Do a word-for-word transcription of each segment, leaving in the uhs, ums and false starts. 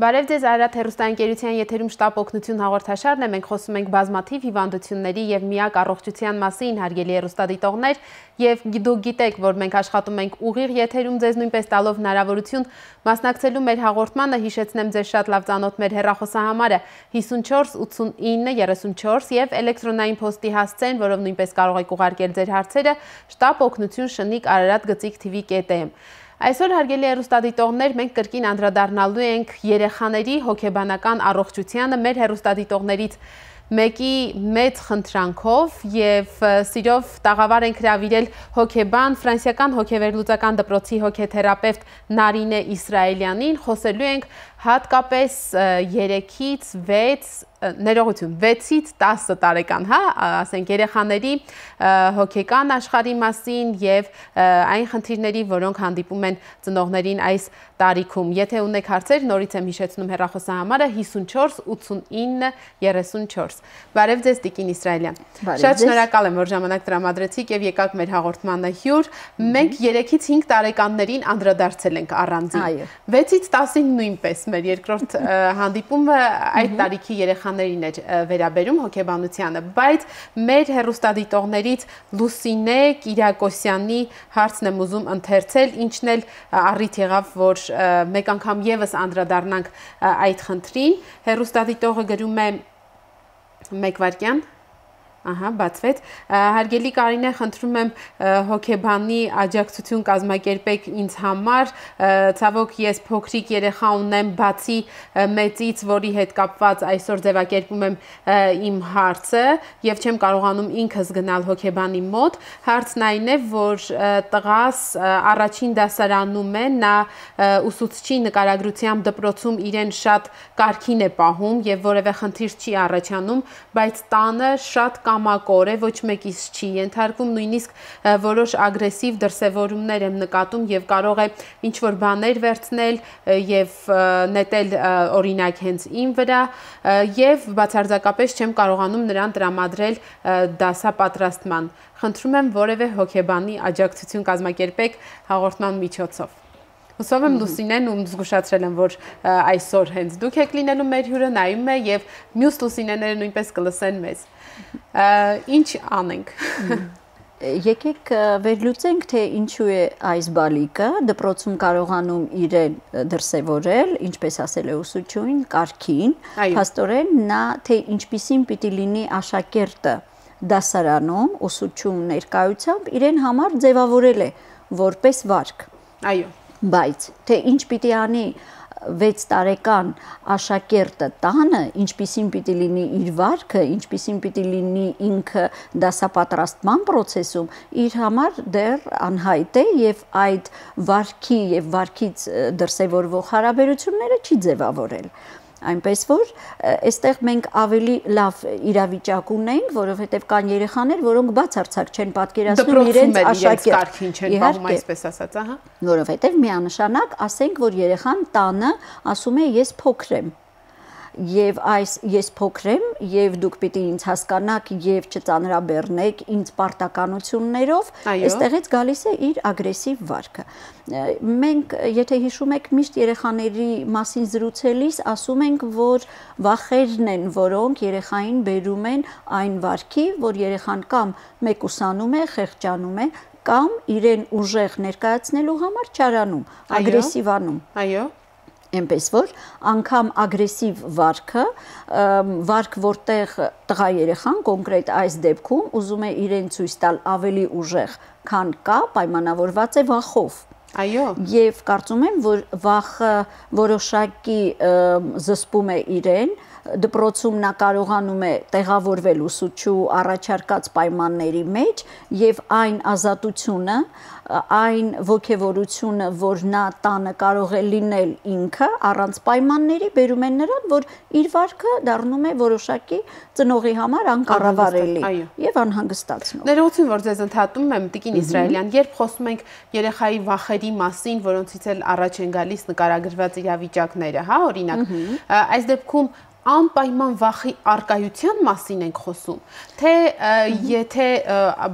Բարև ձեզ Արարատ հեռուստաընկերության եթերում շտապ օգնություն հաղորդաշարն է, մենք խոսում ենք բազմաթիվ հիվանդությունների եւ միակ առողջության մասին, հարգելի հեռուստադիտողներ, եւ դուք գիտեք, որ մենք աշխատում ենք ուղիղ եթերում ձեզ նույնպես տալով հնարավորություն մասնակցելու մեր հաղորդմանը, հիշեցնեմ ձեզ շատ լավ ծանոթ մեր հեռախոսահամարը հիսունչորս ութսունինը երեսունչորս եւ էլեկտրոնային փոստի հասցեն, որով նույնպես կարող եք ուղարկել ձեր հարցերը շտապ օգնություն շնիկ արարատ գծիկ թիվի կետ էմ։ Այսօր հարգելի հեռուստադիտողներ, մենք կրկին անդրադառնալու ենք երեխաների հոգեբանական առողջությանը մեր հեռուստադիտողներից մեկի մեծ խնդրանքով եւ սիրով տաղավար ենք հրավիրել հոգեբան, ֆրանսիական հոգեվերլուծական դպրոցի հոգեթերապևտ Նարինե Իսրայելյանին, խոսելու ենք հատկապես երեքից վեց ներողություն վեցից տասը տարեկան, հա, ասենք երեխաների հոգեկան աշխարհի մասին եւ այն խնդիրների, որոնք հանդիպում են ծնողներին այս տարիքում։ Եթե ունեք հարցեր, նորից եմ հիշեցնում հեռախոսահամարը հիսունչորս ութսունինը երեսունչորս։ Բարև ձեզ Տիկին Իսրայելյան։ Շատ շնորհակալ եմ, որ ժամանակ տրամադրեցիք եւ եկաք մեր հաղորդմանը հյուր։ Մենք երեքից հինգ տարեկաններին անդրադարձել ենք առանձին։ վեցից տասին նույնպես մեր երկրորդ հանդիպումը այդ տարիքի երեխաներին էր վերաբերում հոգեբանությանը, բայց մեր հեռուստադիտողներից Լուսինե Կիրակոսյանի հարցն եմ ուզում ընթերցել, ինչն էլ առիթ եղավ, որ մեկ անգամ եւս անդրադառնանք այդ խնդրին։ Հեռուստադիտողը գրում է մեկ վայրկյան Ահա, բացվեց։ Հարգելի Կարինե, խնդրում եմ հոգեբանի աջակցություն կազմակերպեք ինձ համար, ցավոք ես փոքրիկ երեխա ունեմ, բացի մեծից, որի հետ կապված այսօր ձևակերպում եմ իմ հարցը եւ չեմ կարողանում ինքս գնալ հոգեբանի մոտ։ Հարցն այն է, որ տղաս առաջին դասարանում է, նա ուսուցչի նկարագրությամբ դպրոցում իրեն շատ կարգին է պահում եւ որևէ խնդիր չի առաջանում, բայց տանը շատ կամակոր է, ոչ մեկից չի ենթարկվում, նույնիսկ որոշ ագրեսիվ դրսևորումներ եմ նկատում եւ կարող է ինչ-որ բաներ վերցնել եւ նետել օրինակ հենց իմ վրա եւ բացարձակապես չեմ կարողանում նրան տրամադրել դասապատրաստման։ Խնդրում եմ որևէ հոգեբանի աջակցություն կազմակերպեք հաղորդման միջոցով։ Հուսով եմ Լուսինեն ում զգուշացրել եմ, որ այսօր հենց դուք եք լինելու մեր հյուրը, նայում է եւ մյուս Լուսինեները նույնպես կլսեն մեզ։ Ինչ անենք։ Եկեք վերլուծենք, թե ինչու է այս բալիկը դպրոցում կարողանում իրեն դրսևորել, ինչպես ասել է ուսուցչուհին, կարգին, փաստորեն նա թե ինչպիսին պիտի լինի աշակերտը դասարանում ուսուցչու ներկայությամբ իրեն համար ձևավորել է որպես վարք։ Այո։ Բայց թե ինչ պիտի անի վեց տարեկան աշակերտը տանը, ինչպիսին պիտի լինի իր վարքը, ինչպիսին պիտի լինի ինքը դասապատրաստման process-ում, իր համար դեռ անհայտ է եւ այդ վարքի եւ վարքից դրսևորվող հարաբերությունները չի ձևավորել։ Այնպես որ այստեղ մենք ավելի լավ իրավիճակ ունենք, որովհետև կան երեխաներ, որոնք բացարձակ չեն պատկերացնում իրենց աշակերտ չեն պահում, այսպես ասած, ահա։ Որովհետև միանշանակ ասենք, որ երեխան տանը ասում է ես փոքր եմ։ Եվ այս ես փոքր եմ եւ դուք պիտի ինձ հասկանաք եւ չծանրաբեռնեք ինձ պարտականություններով, այստեղից գալիս է իր ագրեսիվ վարքը։ Մենք, եթե հիշում եք, միշտ երեխաների մասին զրուցելիս ասում ենք, որ վախերն են, որոնք երեխային բերում են այն վարքի, որ երեխան կամ մեկուսանում է, խեղճանում է, կամ իրեն ուժեղ ներկայացնելու համար չարանում, ագրեսիվանում։ Այո։ Այնպես որ անգամ ագրեսիվ վարքը, վարք որտեղ տղա երեխան կոնկրետ այս դեպքում ուզում է իրեն ցույց տալ ավելի ուժեղ, քան կա, պայմանավորված է վախով։ Այո։ Եվ կարծում եմ, որ վախը որոշակի զսպում է իրեն, դպրոցում նա կարողանում է տեղավորվել ուսուցչու առաջարկած պայմանների մեջ եւ այն ազատությունը, այն ոգևորությունը, որ նա տանը կարող է լինել ինքը առանց պայմանների, բերում են նրան, որ իր վարքը դառնում է որոշակի ծնողի համար անկառավարելի եւ անհանգստացնող։ Ներողություն, որ ձեզ ընդհատում եմ, Տիկին Իսրայելյան, երբ խոսում ենք երեխայի վախերի մասին, որոնցից էլ առաջ են գալիս նկարագրված իրավիճակները, հա, օրինակ, այս դեպքում անպայման վախի արկայության մասին ենք խոսում, թե եթե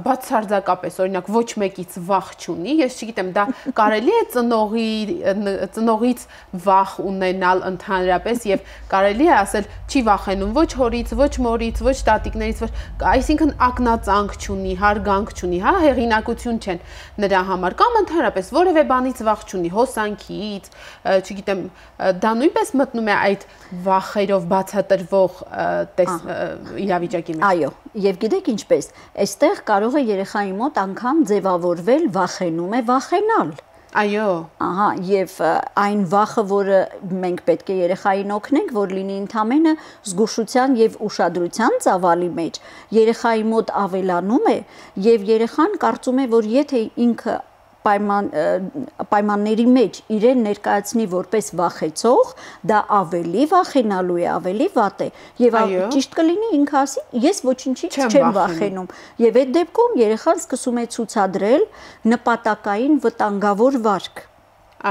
բացարձակապես օրինակ ոչ մեկից վախ չունի, ես չգիտեմ, դա կարելի է ծնողի ծնողից վախ ունենալ ընդհանրապես եւ կարելի է ասել չի վախենում ոչ հորից, ոչ մորից, ոչ տատիկներից, ոչ, այսինքն ակնածանք չունի, հարգանք չունի, հա, հեղինակություն չեն նրա համար, կամ ընդհանրապես որևէ բանից վախ չունի, հոսանքից, չգիտեմ, դա նույնպես մտնում է այդ վախերով բացատրվող իրավիճակի մեջ։ Այո, եւ գիտեք ինչպես, այստեղ կարող է երեխայի մոտ անգամ ձևավորվել վախենում է վախենալ։ Այո։ Ահա, եւ այն վախը, որը մենք պետք է երեխային օգնենք, որ լինի ընդամենը զգուշության եւ ուշադրության ծավալի մեջ, երեխայի մոտ ավելանում է եւ երեխան կարծում է, որ եթե ինքը պայման պայմանների մեջ իրեն ներկայացնի որպես վախեցող, դա ավելի վախենալու է, ավելի վատ է եւ ճիշտ կլինի ինքը ասի, ես ոչինչից չեմ վախենում եւ այդ դեպքում երեխան սկսում է ցուցադրել նպատակային վտանգավոր վարք։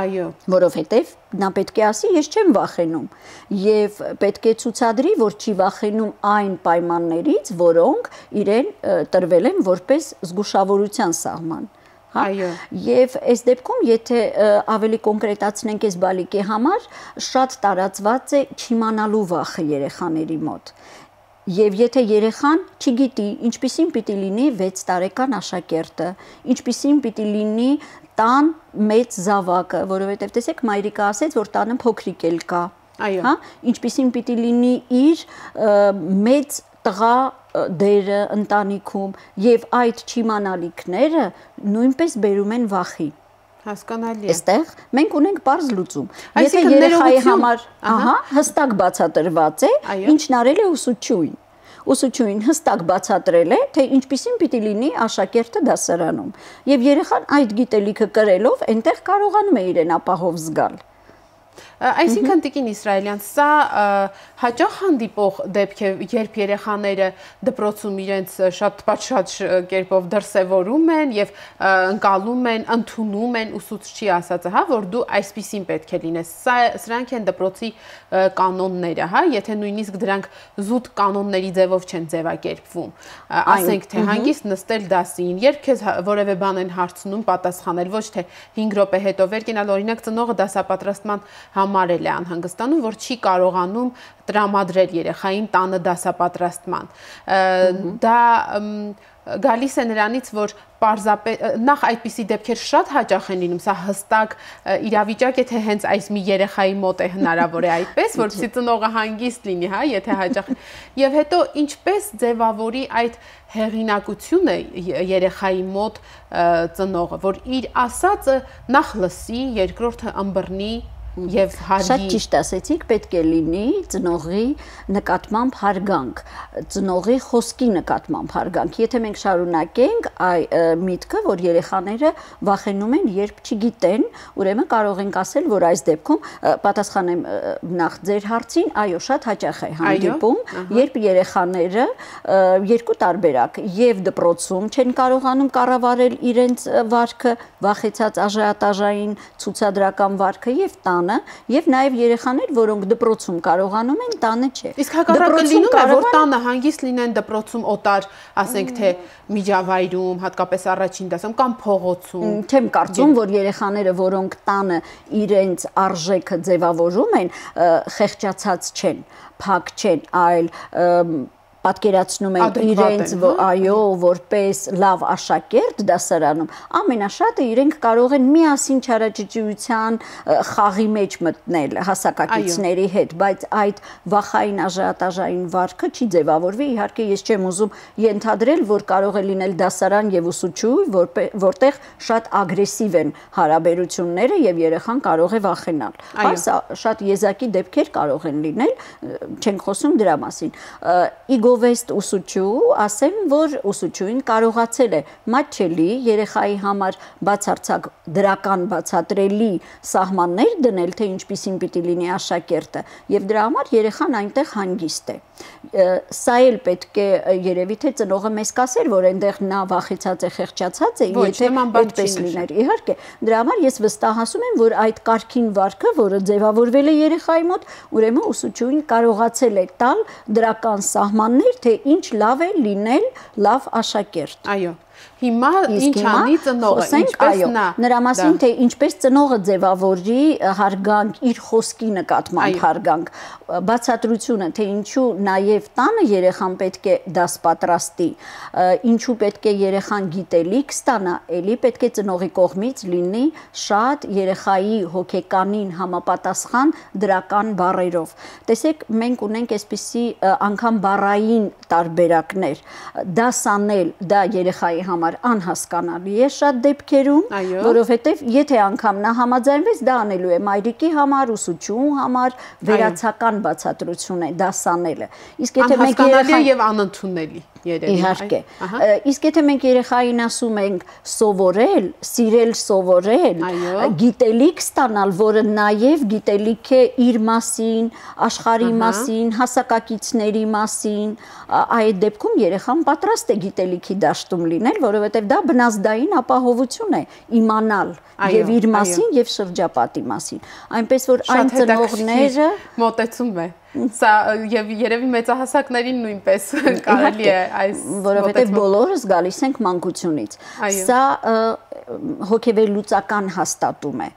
Այո, որովհետև նա պետք է ասի, ես չեմ վախենում եւ պետք է ցուցադրի, որ չի վախենում այն պայմաններից, որոնք իրեն տրվել են որպես զգուշավորության սահման։ Այո։ Եվ այս դեպքում, եթե ավելի կոնկրետացնենք այս բալիկի համար, շատ տարածված է չիմանալու վախը երեխաների մոտ։ Եվ եթե երեխան չգիտի, ինչպիսին պիտի լինի վեց տարեկան աշակերտը, ինչպիսին պիտի լինի տան մեծ զավակը, որովհետև տեսեք, մայրիկը ասեց, որ տանը փոքրիկ էլ կա, հա, ինչպիսին պիտի լինի իր մեծ տղա դերը ընտանիքում եւ այդ չիմանալիքները նույնպես բերում են վախի։ Հասկանալի է։ Այստեղ մենք ունենք բարձ լուծում։ Եթե երեխայի համար, ահա, հստակ բացատրված է, ինչն արել է ուսուցչուհին։ Ուսուցչուհին հստակ բացատրել է, թե ինչպիսին պիտի լինի աշակերտը դասարանում։ Եվ երեխան այդ գիտելիքը կրելով այնտեղ կարողանում է իրեն ապահով զգալ։ Այսինքն Տիկին Իսրայելյան, սա հաճախ հանդիպող դեպք է, երբ երեխաները դպրոցում իրենց շատ պատշաճ կերպով դրսևորում են եւ ընկալում են, ընդունում են ուսուցչի ասածը, հա, որ դու այսպիսին պետք է լինես։ Սա սրանք են դպրոցի կանոնները, հա, եթե նույնիսկ դրանք զուտ կանոնների ձևով չեն ձևակերպվում։ Ասենք թե հանգիստ նստել դասին, երբ քեզ որևէ բան են հարցնում, պատասխանել, ոչ թե հինգ րոպե հետո վեր կենալ, օրինակ ծնողը դասապատրաստման համարել է անհանգստանում, որ չի կարողանում տրամադրել երեխային տանը դասապատրաստման։ Դա գալիս է նրանից, որ պարզապես նախ այդպիսի դեպքեր շատ հաճախ են լինում, սա հստակ իրավիճակ է, թե հենց այս մի երեխայի մոտ է հնարավոր է այդպես, որպեսզի ծնողը հանգիստ լինի, հա, եթե հաճախ։ Եվ հետո ինչպես ձևավորի այդ հեղինակությունը երեխայի մոտ ծնողը, որ իր ասածը նախ լսի, երկրորդը ըմբռնի եւ հարգի։ Շատ ճիշտ ասեցիք, պետք է լինի ծնողի նկատմամբ հարգանք, ծնողի խոսքի նկատմամբ հարգանք։ Եթե մենք շարունակենք այ միտքը, որ երեխաները վախենում են, երբ չգիտեն, ուրեմն կարող ենք ասել, որ այս դեպքում պատասխանեմ նախ ձեր հարցին, այո, շատ հաճախ է հանդիպում, երբ երեխաները երկու տարբերակ, եւ դպրոցում չեն կարողանում կառավարել իրենց վարքը, վախեցած աժիոտաժային ցուցադրական վարքը եւ տանը, եւ նաեւ երեխաներ, որոնք դպրոցում կարողանում են, տանը չէ։ Իսկ հակառակը լինում է, որ տանը հանգիստ լինեն, դպրոցում օտար, ասենք թե միջավայրում, հատկապես առաջին դասում կամ փողոցում։ Չեմ կարծում, որ երեխաները, որոնք տանը իրենց արժեքը ձևավորում են, խեղճացած չեն, փակ չեն, այլ պատկերացնում են իրենց, այո, որպես լավ աշակերտ դասարանում, ամենաշատը իրենք կարող են միասին չարաճճիության խաղի մեջ մտնել հասակակիցների հետ, բայց այդ վախային աժիոտաժային վարքը չի ձևավորվի, իհարկե ես չեմ ուզում ենթադրել, որ կարող է լինել դասարան եւ ուսուցչուհի, որտեղ շատ ագրեսիվ են հարաբերությունները եւ երեխան կարող է վախենալ։ Այս շատ եզակի դեպքեր կարող են լինել, չենք խոսում դրա մասին։ գովեստ ուսուցչու, ասեմ, որ ուսուցչուին կարողացել է մատչելի երեխայի համար բացարձակ դրական բացատրելի սահմաններ դնել, թե ինչպիսին պիտի լինի աշակերտը, եւ դրա համար երեխան այնտեղ հանգիստ է։ Սա էլ պետք է երևի թե ծնողը մեզ կասեր, որ այնտեղ նա վախեցած է, խեղճացած է, եթե այդպես լիներ։ Իհարկե, դրա համար ես վստահացում եմ, որ այդ կարգին վարքը, որը ձևավորվել է երեխայի մոտ, ուրեմն ուսուցչուին կարողացել է տալ դրական սահմաններ, թե ինչ լավ է լինել լավ աշակերտ։ Այո։ Հիմա ինչ անի ծնողը, ինչպես նա նրա մասին թե ինչպես ծնողը ձևավորի հարգանք, իր խոսքի նկատմամբ հարգանք, բացատրությունը, թե ինչու նաև տանը երեխան պետք է դաս պատրաստի, ինչու պետք է երեխան գիտելիք ստանա, էլի պետք է ծնողի կողմից լինի շատ երեխայի հոգեկանին համապատասխան դրական բառերով։ Տեսեք, մենք ունենք այսպիսի անգամ բառային տարբերակներ, դաս անել, դա երեխայի համար անհասկանալի է շատ դեպքերում, որովհետև եթե անգամ նա համաձայնվեց, դա անելու է մայրիկի համար, ուսուցչուհու համար, վերացական բացատրություն է դաս անելը։ Իսկ եթե մենք երեխան եւ անընդունելի Իհարկե, իսկ եթե մենք երեխային ասում ենք սովորել, սիրել սովորել, գիտելիք ստանալ, որը նաև գիտելիք է իր մասին, աշխարհի մասին, հասակակիցների մասին, այդ դեպքում երեխան պատրաստ է գիտելիքի դաշտում լինել, որովհետև դա բնազդային ապահովություն է իմանալ եւ իր մասին եւ շրջապատի մասին։ Այնպես որ այն ծնողները մոտեցում է Սա եւ երևի մեծահասակներին նույնպես կարելի է այս որովհետեւ բոլորս գալիս ենք մանկությունից։ Սա հոգեվերլուծական հաստատում է,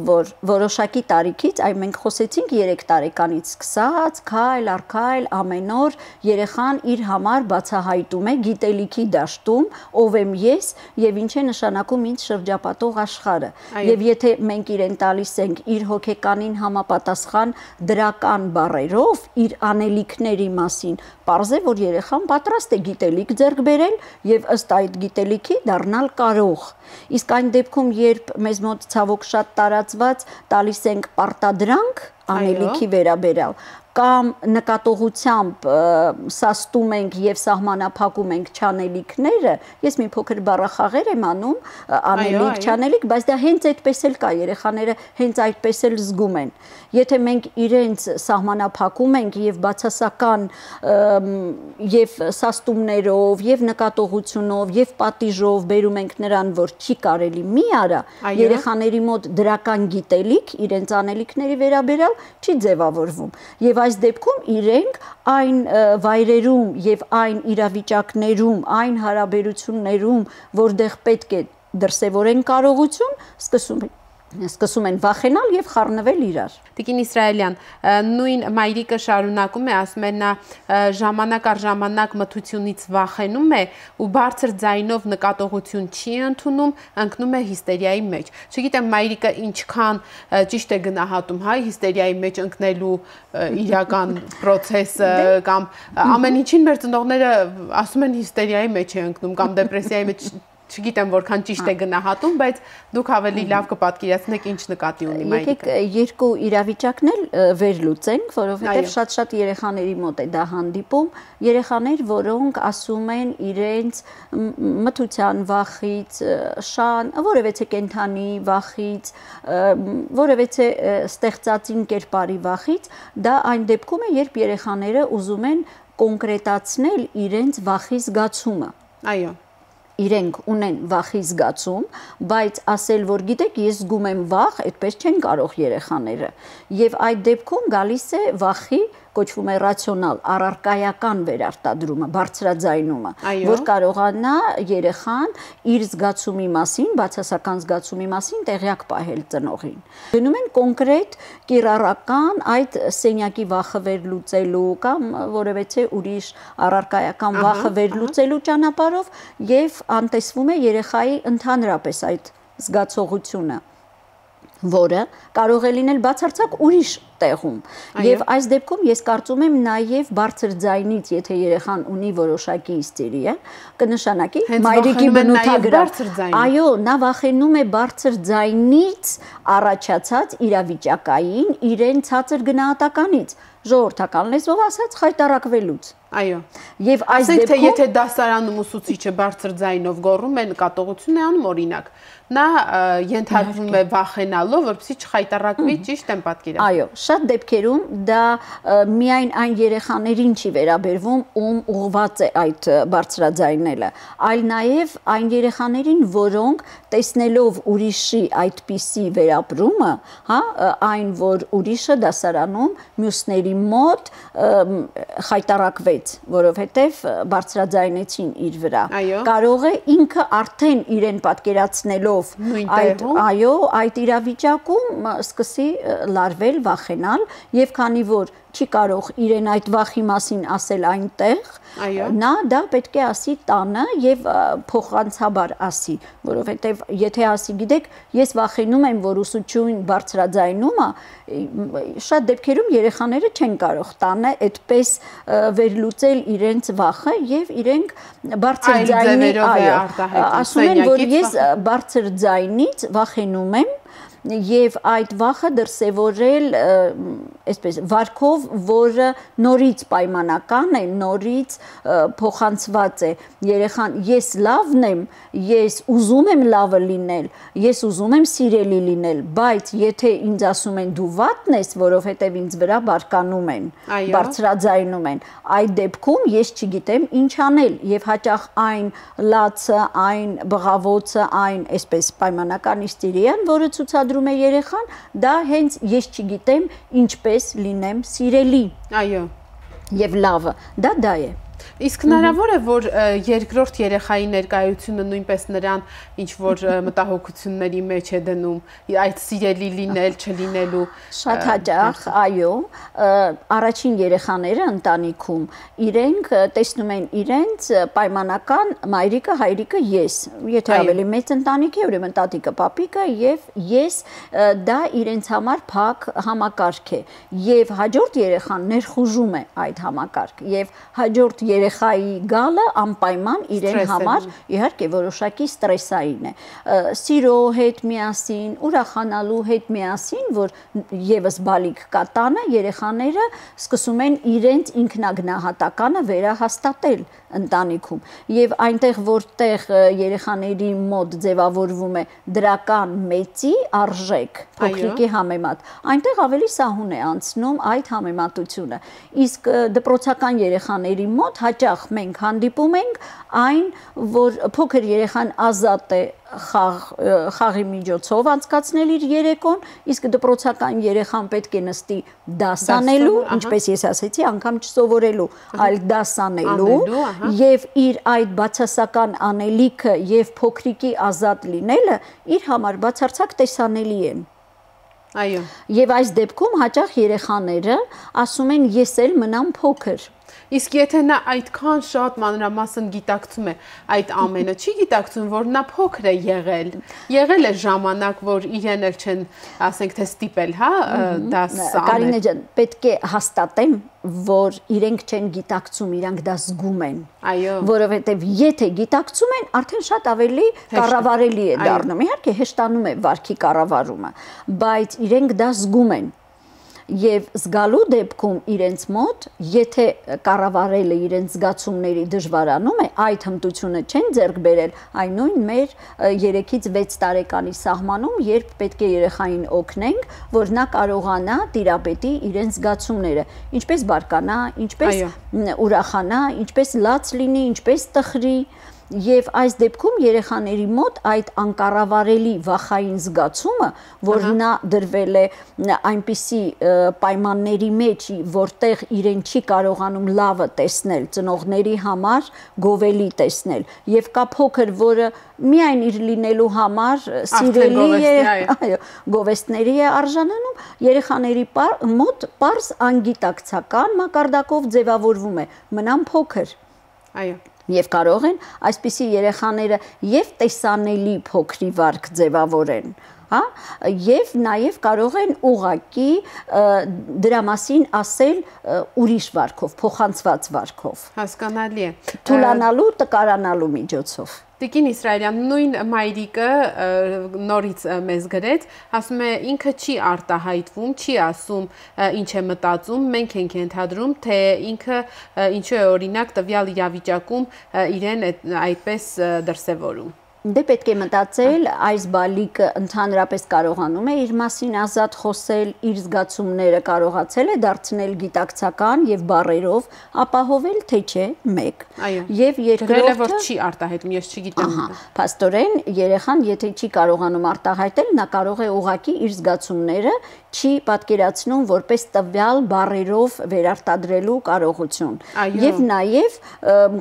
որ որոշակի տարիքից, այ մենք խոսեցինք երեք տարեկանից սկսած, քայլ առ քայլ ամեն օր երեխան իր համար բացահայտում է գիտելիքի դաշտում, ով եմ ես եւ ինչ է նշանակում ինձ շրջապատող աշխարհը։ Եվ եթե մենք իրեն տալիս ենք իր հոգեկանին համապատասխան դրական բառերով իր անելիքների մասին, պարզ է, որ երեխան պատրաստ է գիտելիք ձեռք բերել եւ ըստ այդ գիտելիքի դառնալ կարող։ Իսկ այն դեպքում, երբ մեզ մոտ ցավոք շատ տարածված տալիս ենք պարտադրանք անելիքի վերաբերյալ, կամ նկատողությամբ սաստում ենք եւ սահմանափակում ենք չանելիքները, ես մի փոքր բառախաղեր եմ անում, անելիք, չանելիք, բայց դա հենց այդպես էլ կա, երեխաները հենց այդպես էլ զգում են։ Եթե մենք իրենց սահմանափակում ենք եւ բացասական եւ սաստումներով եւ նկատողությունով եւ պատիժով բերում ենք նրան, որ չի կարելի մի արա, երեխաների մոտ դրական գիտելիք իրենց անելիքների վերաբերյալ չի ձևավորվում։ Եվ այս դեպքում իրենք այն վայրերում եւ այն իրավիճակներում, այն հարաբերություններում, որտեղ պետք է դրսևորեն կարողություն, սկսում են սկսում են վախենալ եւ խառնվել իրար։ Տիկին Իսրայելյան, նույն մայրիկը շարունակում է, ասում է նա ժամանակ առ ժամանակ մթությունից վախենում է ու բարձր ձայնով նկատողություն չի ընդունում, ընկնում է հիստերիայի մեջ։ Չգիտեմ մայրիկը ինչքան ճիշտ է գնահատում, հայ հիստերիայի մեջ ընկնելու իրական process-ը կամ ամեն ինչին մեր ծնողները ասում են հիստերիայի մեջ է ընկնում կամ դեպրեսիայի մեջ Չգիտեմ որքան ճիշտ է գնահատում, բայց դուք ավելի լավ կպատկերացնեք ինչ նկատի ունի մայրիկը։ Եկեք երկու իրավիճակն էլ վերլուծենք, որովհետև շատ-շատ երեխաների մոտ է դա հանդիպում, երեխաներ, որոնք ասում են իրենց մթության վախից, շան, որևէ կենդանի վախից, որևէ ստեղծածին կերպարի վախից, դա այն դեպքում է, երբ երեխաները ուզում են կոնկրետացնել իրենց վախի զգացումը։ Այո։ Իրենք ունեն վախի զգացում, բայց ասել, որ գիտեք, ես զգում եմ վախ, այդպես չեն կարող երեխաները։ Եվ այդ դեպքում գալիս է վախի կոչվում է ռացիոնալ, առարկայական վերարտադրումը, բարձրաձայնումը, որ կարողանա երեխան իր զգացումի մասին, բացասական զգացումի մասին տեղյակ պահել ծնողին։ Գնում են կոնկրետ կիրառական այդ սենյակի վախը վերլուծելու կամ որևէ ուրիշ առարկայական վախը վերլուծելու ճանապարհով եւ անտեսվում է երեխայի ընդհանրապես այդ զգացողությունը, որը կարող է լինել բացարձակ ուրիշ տեղում։ Եվ այս դեպքում ես կարծում եմ նաև բարձր ձայնից, եթե երեխան ունի որոշակի հիստերիա, կնշանակի մայրիկի բնութագրավ։ Այո, նա վախենում է բարձր ձայնից առաջացած իրավիճակային իրեն ցածր գնահատականից, ժողովրդական լեզվով ասած խայտարակվելուց։ Այո։ Եվ այս դեպքում թե եթե դեպքում դասարանում ուսուցիչը բարձր ձայնով գոռում է, նկատողություն է անում, օրինակ, նա ենթարկվում է վախենալով, որպեսզի չխայտառակվի, ճիշտ եմ պատկերացնում։ Այո, շատ դեպքերում դա միայն այն երեխաներին չի վերաբերվում, ում ուղղված է այդ բարձրաձայնելը, այլ նաև այն երեխաներին, որոնք տեսնելով ուրիշի այդպիսի վերապրումը, հա, այն որ ուրիշը դասարանում մյուսների մոտ խայտառակվեց, որովհետև բարձրաձայնեցին իր վրա։ Կարող է ինքը արդեն իրեն պատկերացնելով այդ, այո, այդ իրավիճակում սկսի լարվել, վախենալ, եւ քանի որ չի կարող իրեն այդ վախի մասին ասել այնտեղ, նա դա պետք է ասի տանը եւ փոխանցաբար ասի, որովհետեւ եթե ասի, գիտեք, ես վախենում եմ, որ ուսուցչուհին բարձրաձայնում է, շատ դեպքերում երեխաները չեն կարող տանը այդպես վերլուծել իրենց վախը եւ իրենք բարձր ձայնի, այո, ասում են, որ ես բարձր ձայնից վախենում եմ եւ այդ վախը դրսեւորել այսպես վարքով, որը նորից պայմանական է, նորից փոխանցված է երեխան, ես լավն եմ, ես ուզում եմ լավը լինել, ես ուզում եմ սիրելի լինել, բայց եթե ինձ ասում են դու վատն ես, որովհետեւ ինձ վրա բարկանում են, բարձրաձայնում են, այդ դեպքում ես չգիտեմ ինչ անել եւ հաճախ այն լացը, այն բղավոցը, այն այսպես պայմանական իստերիան, որը ցուցադրում է երեխան, դա հենց ես չգիտեմ ինչպես լինեմ սիրելի։ Այո։ Եվ լավը, դա դա է։ Իսկ հնարավոր է, որ երկրորդ երեխայի ներկայությունը նույնպես նրան ինչ-որ մտահոգությունների մեջ է դնում, այդ սիրելի լինել, չլինելու։ Շատ հաճախ, այո, առաջին երեխաները ընտանիքում իրենք տեսնում են իրենց պայմանական մայրիկը, հայրիկը, ես, եթե ավելի մեծ ընտանիք է, ուրեմն տատիկը, պապիկը եւ ես, դա իրենց համար փակ համակարգ է եւ հաջորդ երեխան ներխուժում է այդ համակարգ եւ հաջորդ երեխայի գալը անպայման իրեն համար իհարկե որոշակի ստրեսային է։ Սիրո հետ միասին, ուրախանալու հետ միասին, որ եւս բալիկ կա տանը, երեխաները սկսում են իրենց ինքնագնահատականը վերահաստատել ընտանիքում եւ այնտեղ որտեղ երեխաների մոտ ձևավորվում է դրական մեծի արժեք փոքրիկի համեմատ, այնտեղ ավելի սահուն է անցնում այդ համեմատությունը։ Իսկ դպրոցական երեխաների մոտ հաճախ մենք հանդիպում ենք այն, որ փոքր երեխան ազատ է խաղ, խաղի միջոցով անցկացնել իր երեկոն, իսկ դպրոցական երեխան պետք է նստի դասանելու, ինչպես ես ասեցի, անգամ չսովորելու, այլ դասանելու եւ իր այդ բացասական անելիքը եւ փոքրիկի ազատ լինելը իր համար բացարձակ տեսանելի են։ Այո։ Եվ այս դեպքում հաճախ երեխաները ասում են ես էլ մնամ փոքր։ Իսկ եթե նա այդքան շատ մանրամասն գիտակցում է այդ ամենը, չի գիտակցում, որ նա փոքր է եղել, եղել է ժամանակ, որ իրեն էլ չեն, ասենք թե ստիպել, հա, դա սա։ Կարինե ջան, պետք է հաստատեմ, որ իրենք չեն գիտակցում, իրանք դա զգում են։ Այո։ Որովհետև եթե գիտակցում են, արդեն շատ ավելի կառավարելի է դառնում։ Իհարկե հեշտանում է վարքի կառավարումը, բայց իրենք դա զգում են։ Եվ զգալու դեպքում իրենց մոտ, եթե կառավարելը իրենց զգացումների դժվարանում է, այդ հմտությունը չեն ձեռք բերել, այն նույն մեր երեքից վեց տարեկանի սահմանում, երբ պետք է երեխային օգնենք, որ նա կարողանա տիրապետի իրենց զգացումները, ինչպես բարկանա, ինչպես ուրախանա, ինչպես լաց լինի, ինչպես տխրի։ Եվ այս դեպքում երեխաների մոտ այդ անկառավարելի վախային զգացումը, որ նա դրվել է այնպիսի պայմանների մեջ, որտեղ իրեն չի կարողանում լավը տեսնել, ծնողների համար գովելի տեսնել, եւ կա փոքր, որը միայն իր լինելու համար սիրելի է, այո, գովեստների է արժանանում, երեխաների մոտ պարզ անգիտակցական մակարդակով ձևավորվում է, մնամ փոքր։ Այո։ Եվ կարող են այսպիսի երեխաները եւ տեսանելի փոքրի վարք ձևավորեն, հա, եւ նաեւ կարող են ուղակի դրա մասին ասել ուրիշ վարքով, փոխանցված վարքով։ Հասկանալի է։ Թուլանալու, տկարանալու միջոցով։ Տիկին Իսրայելյան, նույն մայրիկը նորից մեզ գրեց, ասում է ինքը չի արտահայտվում, չի ասում ինչ է մտածում, մենք ենք ենթադրում, թե ինքը ինչու է օրինակ տվյալ իրավիճակում իրեն այդպես դրսևորում։ Դե պետք է մտածել, այս բալիկը ընդհանրապես կարողանում է իր մասին ազատ խոսել, իր զգացումները կարողացել է դարձնել գիտակցական եւ բառերով ապահովել, թե չէ, մեկ։ Եվ երկրորդը որ չի արտահայտում, ես չգիտեմ։ Ահա, փաստորեն երեխան եթե չի կարողանում արտահայտել, նա կարող է ուղղակի իր զգացումները չի պատկերացնում որպես տվյալ բառերով վերարտադրելու կարողություն։ Եվ նաև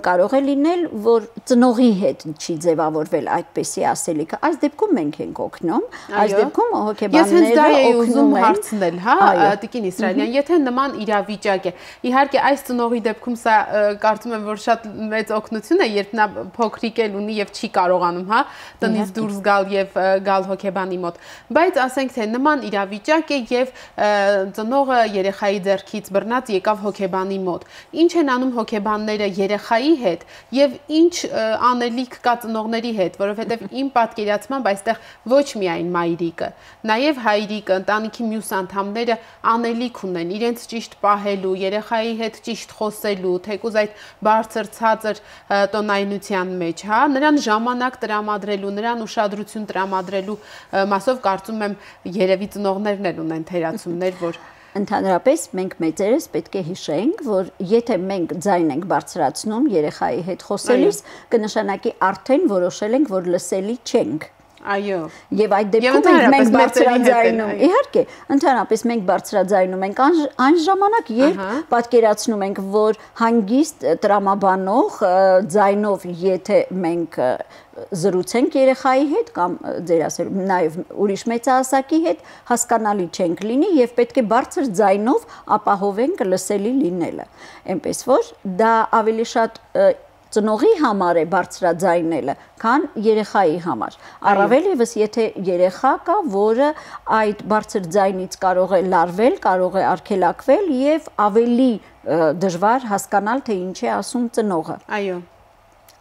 կարող է լինել, որ ծնողի հետ չի ձևավորվել այդպեսի ասելիքը։ Այս դեպքում մենք ենք օգնում, այս դեպքում հոգեբանները օգնում են հարցնել, հա, Տիկին Իսրայելյան, եթե նման իրավիճակ է։ Իհարկե այս ծնողի դեպքում սա կարծում եմ, որ շատ մեծ օգնություն է, երբ նա փոքրիկ էլ ունի եւ չի կարողանում, հա, տնից դուրս գալ եւ գալ հոգեբանի մոտ։ Բայց ասենք թե նման իրավիճակ է եւ ծնողը երեխայի ձեռքից բռնած եկավ հոգեբանի մոտ։ Ինչ են անում հոգեբանները երեխայի հետ եւ ինչ անելիք կա ծնողների հետ, որովհետեւ իմ պատկերացմամբ այստեղ ոչ միայն մայրիկը, նաեւ հայրիկը, ընտանիքի մյուս անդամները անելիք ունեն իրենց ճիշտ պահելու, երեխայի հետ ճիշտ խոսելու, թեկուզ այդ բարձր ցածր տոնայնության մեջ, հա, նրան ժամանակ տրամադրելու, նրան ուշադրություն տրամադրելու մասով կարծում եմ երևի ծնողներն էլ ունեն թերացումներ, որ Ընդհանրապես մենք մեծերս պետք է հիշենք, որ եթե մենք ձայն ենք բարձրացնում երեխայի հետ խոսելիս, կնշանակի արդեն որոշել ենք, որ լսելի չենք։ Այո։ Եվ այդ դեպքում մենք բարձրաձայնում, իհարկե, ընդհանրապես մենք բարձրաձայնում ենք այն ժամանակ, երբ պատկերացնում ենք, որ հանգիստ տրամաբանող ձայնով, եթե մենք զրուցենք երեխայի հետ կամ ձեր ասել նաև ուրիշ մեծահասակի հետ հասկանալի չենք լինի եւ պետք է բարձր ձայնով ապահովենք լսելի լինելը։ Էնպես որ դա ավելի շատ ծնողի համար է բարձրաձայնելը, քան երեխայի համար։ Առավել ևս եթե երեխա կա, որը այդ բարձր ձայնից կարող է լարվել, կարող է արգելակվել եւ ավելի դժվար հասկանալ, թե ինչ է ասում ծնողը։ Այո։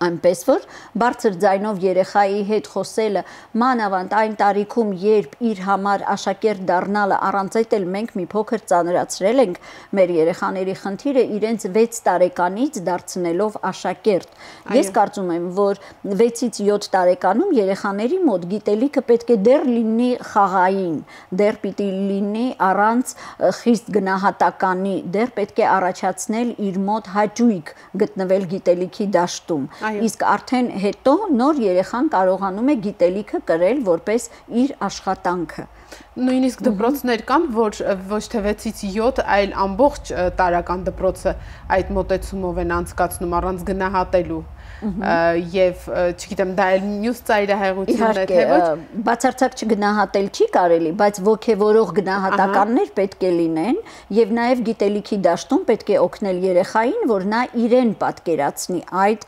Այնպես որ բարձր ձայնով երեխայի հետ խոսելը մանավանդ այն տարիքում, երբ իր համար աշակերտ դառնալը առանց այդ էլ մենք մի փոքր ծանրացրել ենք մեր երեխաների խնդիրը իրենց վեց տարեկանից դարձնելով աշակերտ։ Ես կարծում եմ, որ վեցից յոթ տարեկանում երեխաների մոտ գիտելիքը պետք է դեռ լինի խաղային, դեռ պիտի լինի առանց խիստ գնահատականի, դեռ պետք է առաջացնել իր մոտ հաճույք գտնվել գիտելիքի դաշտում։ Իսկ արդեն հետո նոր երեխան կարողանում է գիտելիքը կրել որպես իր աշխատանքը։ Նույնիսկ դպրոցներ կան, որ ոչ թե վեցից յոթ, այլ ամբողջ տարական դպրոցը այդ մոտեցումով են անցկացնում առանց գնահատելու։ Եվ չգիտեմ, դա էլ մյուս ծայրահեղությունն է, թե ոչ։ Բացարձակ չգնահատել չի կարելի, բայց ոգևորող գնահատականներ պետք է լինեն եւ նաեւ գիտելիքի դաշտում պետք է օգնել երեխային, որ նա իրեն պատկերացնի այդ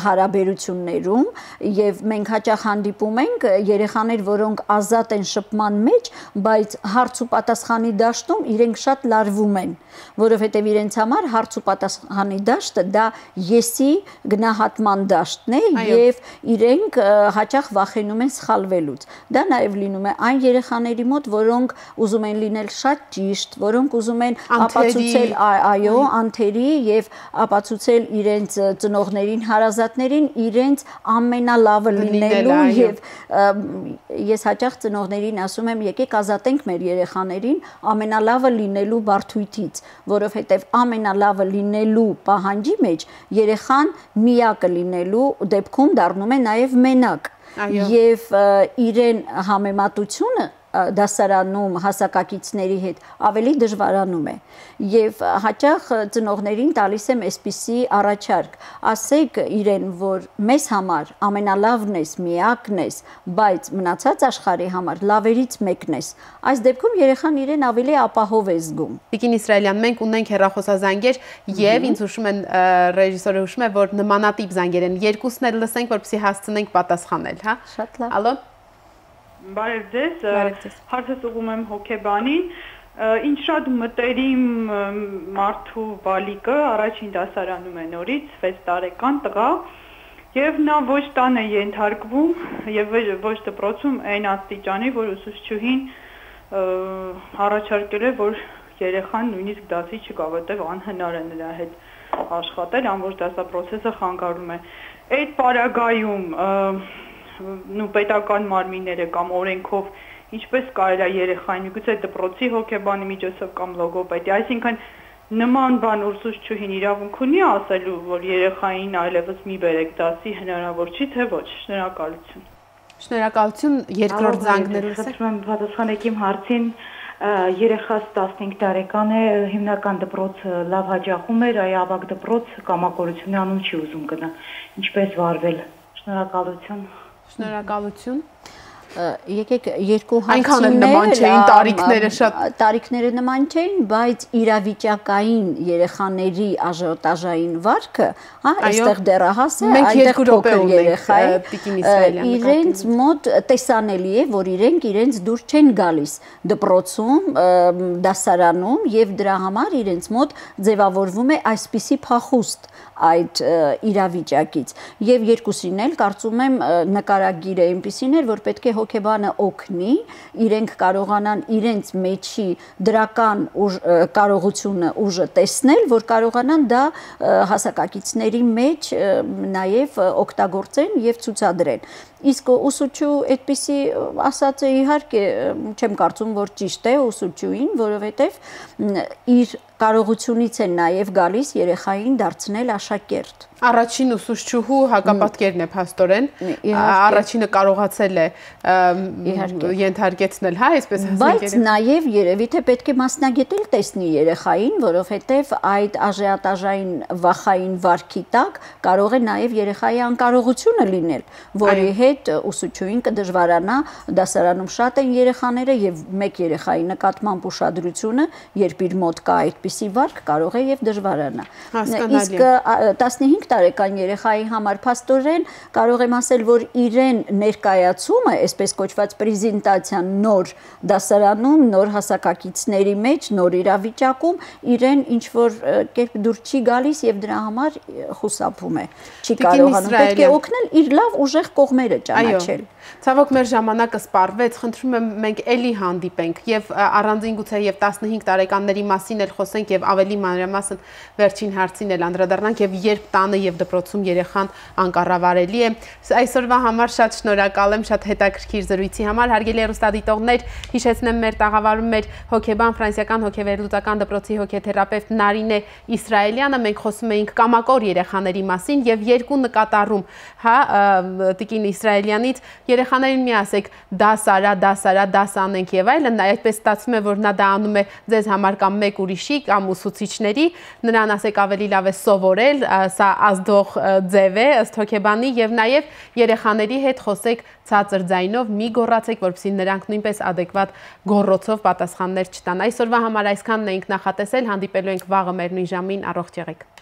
հարաբերություններում եւ մենք հաճախ հանդիպում ենք երեխաներ, որոնք ազատ են շփման մեջ, բայց հարց ու պատասխանի դաշտում իրենք շատ լարվում են, որովհետեւ իրենց համար հարց ու պատասխանի դաշտը դա եսի գնահատման դաշտն է եւ իրենք հաճախ վախենում են սխալվելուց։ Դա նաեւ լինում է այն երեխաների մոտ, որոնք ուզում են լինել շատ ճիշտ, որոնք ուզում են ապացուցել, այո, անթերի եւ ապացուցել իրենց ծնողներին, հարազատներին իրենց ամենալավը լինելու եւ ես հաճախ ծնողներին ասում եմ, եկեք ազատենք մեր երեխաներին ամենալավը լինելու բարդույթից, որովհետեւ ամենալավը լինելու պահանջի մեջ երեխան միակը լինելու դեպքում դառնում է նաև մենակ եւ իրեն համեմատությունը դասարանում հասակակիցների հետ ավելի դժվարանում է եւ հաճախ ծնողներին տալիս եմ այսպիսի առաջարկ ասեք իրեն որ մեզ համար ամենալավն ես միակն ես բայց մնացած աշխարհի համար լավերից մեկն ես այս դեպքում երեխան իրեն ավելի ապահով է զգում Տիկին Իսրայելյան մենք ունենք հեռախոսազանգեր եւ ինձ հուշում են ռեժիսորը հուշում է որ նմանատիպ զանգեր են երկուսն էլ լսենք որպեսզի հասցնենք պատասխանել հա շատ լավ ալո Բարև ձեզ, հարցս ուղղում եմ հոգեբանին, ինչ շատ մտերիմ մարդու բալիկը առաջին դասարանում է նորից, վեց տարեկան տղա, եւ նա ոչ տան է ենթարկվում եւ ոչ դպրոցում այն աստիճանի, որ ուսուցչուհին առաջարկել է, որ երեխան նույնիսկ դասի չգա, որտեղ անհնար է նրա հետ աշխատել, ամբողջ դասապրոցեսը խանգարում է։ Այդ պարագայում նու պետական մարմինները կամ օրենքով ինչպես կարելի է երեխային, միգուցե դպրոցի հոգեբանի միջոցով կամ լոգոպեդի, այսինքն նման բան ուսուցչուհին իրավունք ունի ասելու, որ երեխային այլևս մի բերեք դասի, հնարավոր չի, թե ոչ։ Շնորհակալություն։ Շնորհակալություն, երկրորդ զանգներուս եք։ Խնդրում եմ պատասխանեք իմ հարցին, երեխաս տասնհինգ տարեկան է, հիմնական դպրոց լավ հաճախում էր, այ ավագ դպրոց կամակորությունի անուն չի ուզում գնա։ Ինչպես վարվել։ Շնորհակալություն։ Շնորհակալություն։ Եկեք երկու հարցումներ, նման չէին տարիքները շատ տարիքները նման չէին, բայց իրավիճակային երեխաների աժիոտաժային վարքը, հա, այստեղ դեռահաս է, այդտեղ փոքր երեխա է, իրենց մոտ տեսանելի է, որ իրենք իրենց դուր չեն գալիս դպրոցում, դասարանում եւ դրա համար իրենց մոտ ձևավորվում է այսպիսի փախուստ այդ իրավիճակից եւ երկուսին էլ կարծում եմ նկարագիրը այնպիսին էր, որ պետք է հոգեբանը օգնի, իրենք կարողանան իրենց մեջի դրական կարողությունը ուժը տեսնել, որ կարողանան դա հասակակիցների մեջ նաև օգտագործեն եւ ցուցադրեն։ Իսկ ուսուցչու այդպիսի ասած է, իհարկե չեմ կարծում, որ ճիշտ է ուսուցչուին, որովհետեւ իր կարողությունից են նաև գալիս երեխային դարձնել աշակերտ։ Առաջին ուսուցչուհու հակապատկերն է փաստորեն, առաջինը կարողացել է ենթարկեցնել, հա, այսպես ասենք։ Բայց նաև երևի թե պետք է մասնագետել տեսնի երեխային, որովհետև այդ աժիոտաժային վախային վարքի տակ կարող է նաև երեխայի անկարողությունը լինել, որի հետ ուսուցչուհին կդժվարանա, դասարանում շատ են երեխաները եւ մեկ երեխայի նկատմամբ ուշադրությունը, երբ իր մոտ կա այդպիսի վարք, կարող է եւ դժվարանա։ Իսկ տասնհինգ տարեկան երեխայի համար փաստորեն կարող եմ ասել, որ իրեն ներկայացումը, այսպես կոչված պրեզենտացիան նոր դասարանում, նոր հասակակիցների մեջ, նոր իրավիճակում իրեն ինչ որ կերպ դուր չի գալիս եւ դրա համար խուսափում է։ Չի կարողանում, պետք է օգնել իր լավ ուժեղ կողմերը ճանաչել։ Ցավոք մեր ժամանակը սպառվեց, խնդրում եմ մենք էլի հանդիպենք եւ առանձին գուցե եւ տասնհինգ տարեկանների մասին էլ խոսենք եւ ավելի մանրամասն վերջին հարցին էլ անդրադառնանք եւ երբ տանը եւ դպրոցում երեխան անկառավարելի է։ Այսօրվա համար շատ շնորհակալ եմ, շատ հետաքրքիր զրույցի համար։ Հարգելի հեռուստադիտողներ, հիշեցնեմ մեր տաղավարում մեր հոգեբան ֆրանսիական հոգեվերլուծական դպրոցի հոգեթերապևտ Նարինե Իսրայելյանը, մենք խոսում էինք կամակոր երեխաների մասին եւ երկու նկատառում, հա, Տիկին Իսրայելյանից երեխաներին մի ասեք դաս արա, դաս արա, դաս անենք եւ այլն, այդպես ստացվում է, որ նա դա անում է ձեզ համար կամ մեկ ուրիշի կամ ուսուցիչների, նրան ասեք ավելի լավ է սովորել, սա ազդող ձև է ըստ հոգեբանի եւ նաեւ երեխաների հետ խոսեք ցածր ձայնով, մի գոռացեք, որպեսզի նրանք նույնպես adekvat գոռոցով պատասխաններ չտան։ Այսօրվա համար այսքանն ենք նախատեսել, հանդիպելու ենք վաղը մեր նույն ժամին, առողջ եղեք։